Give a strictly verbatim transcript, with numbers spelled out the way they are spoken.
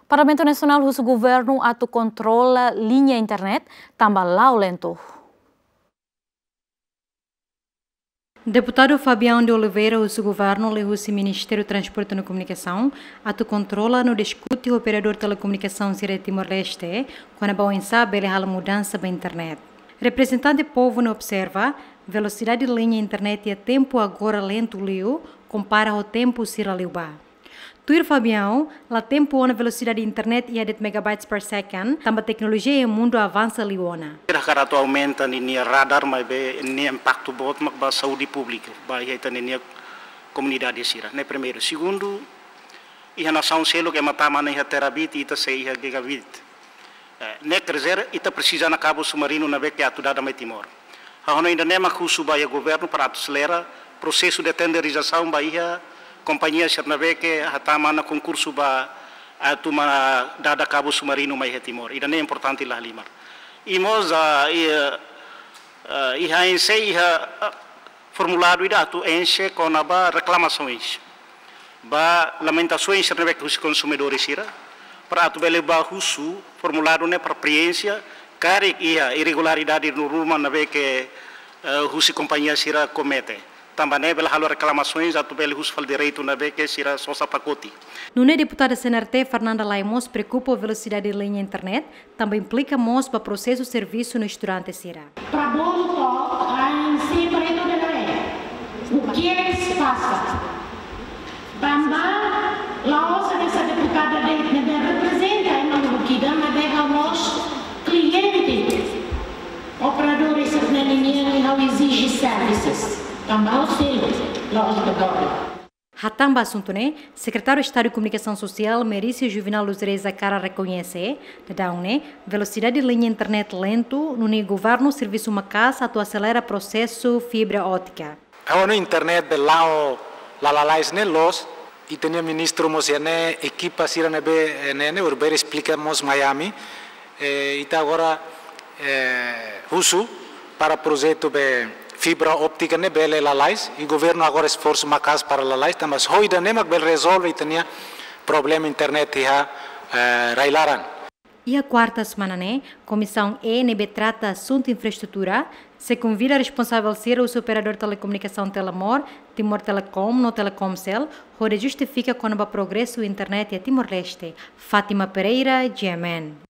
Parlamentu Nasionál husu governu atu kontrola liña internet tanba la'o lentu. Deputadu Fabião de Oliveira husu governu liuhusi Ministériu Transporte no Komunikasaun atu kontrola no diskute ho operadór telekomunikasaun sira Timor-Leste, kona-ba oinsá bele halo mudansa ba internet. Reprezentante povu ne'e observa, velosidade liña internet iha tempu agora lentu liu, kompara ho tempu sira liubá. Tuir Fabião, la tempu ona velosidade internet iha de'it megabytes per second, tanba teknolojia iha mundu avansa liu ona. Hakarak atu aumenta ninia radar, maibé nia impaktu boot mak ba saúde públika, ba iha ita-ninia komunidade sira. Ne'e primeiru. Segundu, iha nasaun seluk ema tama ona iha terabit, ita sei iha gigabit. Eh, ne'e quer dizer, ita presiza ona kabu submarinu ne'ebé ke atu dada mai Timor. Ha'u hanoin ida-ne'e mak husu ba iha governu para atu aselera prosesu de tenderizasaun ba iha kompañia sira ne'ebé ke hatama ona konkursu ba atu mai dada kabu submarinu mai iha Timor. Ida-ne'e importante lahalimar. I mós, ah, i, ah, iha A N C iha, ah, formuladu ida atu enxe kona-ba reklamasoens ba lamentasoens sira ne'ebé ke husi konsumidores sira, para atu bele ba husu formuladu ne'e para preenxe karik iha irregularidade no ruma ne'ebé ke, eh, husi kompañia sira komete. Tanba ne'e bele halo reklamasoens atu bele husu fali direitu ne'ebé ke sira sosa pakote. Nune'e deputada C N R T Fernanda Lay mós preokupa ho velosidade liña internet, tanba implika mós ba prosesu servisu no estudante sira. Para bolu to'o, A N C preto de lei. O que é que se passa? Tanba, la'ós hanesan deputada de'it ne'ebé reprezenta ema lubuk ida, maibé ha'u mós kliente operadores sira-nian, ha'u ezije services. Tanba ha'u selu, la'ós bedola. Hatán ba asuntu ne'e, Sekretáriu Estadu Komunikasaun Sosiál, Merício Juvenal dos Reis Acara rekoñese, daudaun ne'e, velosidade liña internet lentu, nune'e governu servisu maka'as atu aselera prosesu fibra ótika. Ha'u hanoin internet be la'o lalais ne'e loos, ita-nia ministru mós iha ne'e, ekipa sira ne'ebé, eh, ne'e, ne'e, horibainrua esplika mós mai ami, eh, ita agora, eh, husu para projetu be fibra óptika ne'e bele lalais, i governu agora esforsu maka'as para lalais, tanba só ida-ne'e mak bele rezolve ita-nia problema internet iha, eh, rai-laran. Iha kuarta semana ne'e, Komisaun E ne'ebé trata asuntu infraestrutura, sei konvida responsavel sira husi operadór telekomunikasaun Telemor, Timor Telecom no Telecomcel, hodi justifika kona-ba progresu internet iha Timor-Leste. Fátima Pereira, G M N.